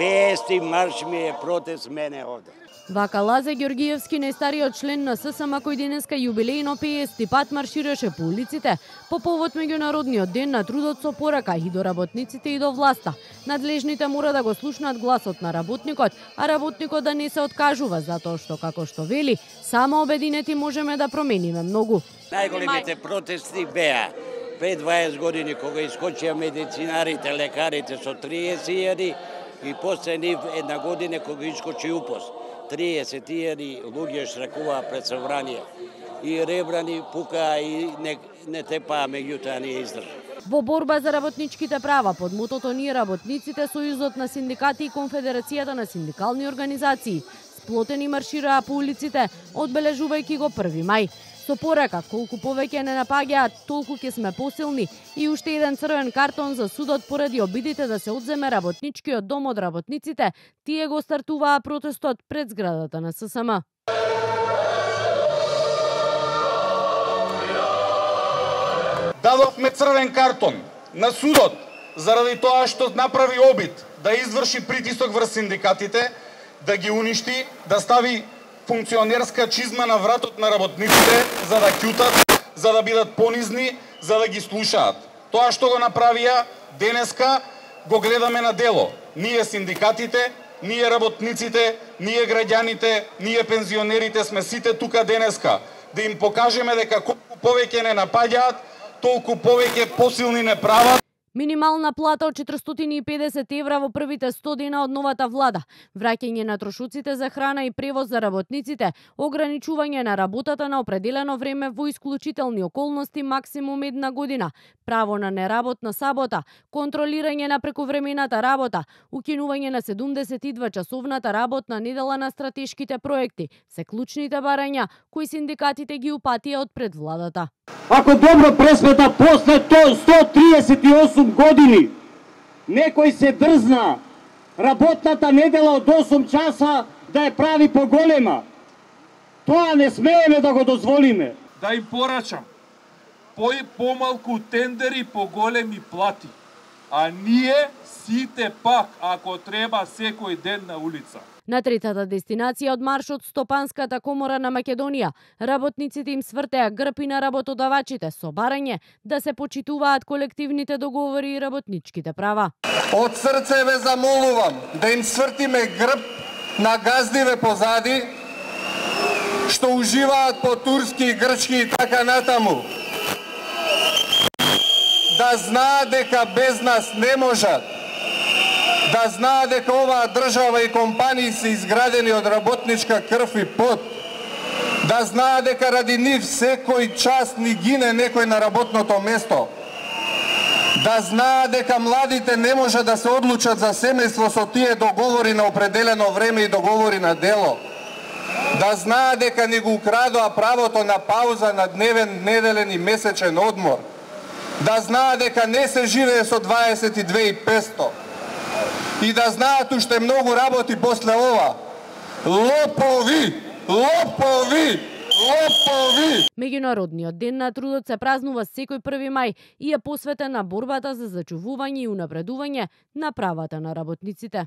50 марш ми е протест мене овде. Вака Лазе Ѓоргиевски, најстариот член на ССМ, кој денеска јубилејно 50 пат маршираше по улиците по повод меѓународниот ден на трудот, со порака и до работниците и до власта. Надлежните мора да го слушнат гласот на работникот, а работникот да не се откажува, затоа што, како што вели, само обединети можеме да промениме многу. Најголемите протести беа пред 20 години кога искочија медицинарите, лекарите со 30.000 и после нив една година кога искочи УПОС. 30.000 луѓе штракуваа пред собрание и ребрани пука и не тепаа, меѓутоа не издржа. Во борба за работничките права под мотото Ние работниците, Сојузот на синдикати и Конфедерацијата на синдикални организации сплотени маршираа по улиците, одбележувајќи го 1 мај. Со порака, колку повеќе не напаѓаат, толку ќе сме посилни, и уште еден црвен картон за судот поради обидите да се одземе работничкиот дом од работниците, тие го стартуваа протестот пред зградата на ССМ. Дадовме црвен картон на судот заради тоа што направи обид да изврши притисок врз синдикатите, да ги уништи, да стави функционерска чизма на вратот на работниците, за да ќутат, за да бидат понизни, за да ги слушаат. Тоа што го направија, денеска го гледаме на дело. Ние синдикатите, ние работниците, ние граѓаните, ние пензионерите сме сите тука денеска. Да им покажеме дека колку повеќе не напаѓаат, толку повеќе посилни не прават. Минимална плата од 450 евра во првите 100 дена од новата влада, враќање на трошоците за храна и превоз за работниците, ограничување на работата на определено време во исклучителни околности максимум 1 година, право на неработна сабота, контролирање на прековремената работа, укинување на 72-часовната работна недела на стратешките проекти, се клучните барања кои синдикатите ги упатија од пред владата. Ако добро пресмета после 138 години некој се дрзна работната недела од 8 часа да ја прави поголема, тоа не смееме да го дозволиме. Да им порачам помалку тендери, поголеми плати, а ние сите пак, ако треба, секој ден на улица. На третата дестинација од маршот Стопанската комора на Македонија, работниците им свртеа грб и на работодавачите со барање да се почитуваат колективните договори и работничките права. Од срце ве замолувам да им свртиме грб на газдиве позади, што уживаат по турски, грчки и така натаму. Да знаат дека без нас не можат. Да знаат дека оваа држава и компании се изградени од работничка крв и пот. Да знаат дека ради нив секој час ни гине некој на работното место. Да знаат дека младите не може да се одлучат за семејство со тие договори на определено време и договори на дело. Да знаат дека ни го украдоа правото на пауза на дневен, неделен и месечен одмор. Да знаат дека не се живее со 22.500. И да знаат уште многу работи после ова. Лопови! Лопови! Лопови! Меѓународниот ден на трудот се празнува секој 1 мај и е посветен на борбата за зачувување и унапредување на правата на работниците.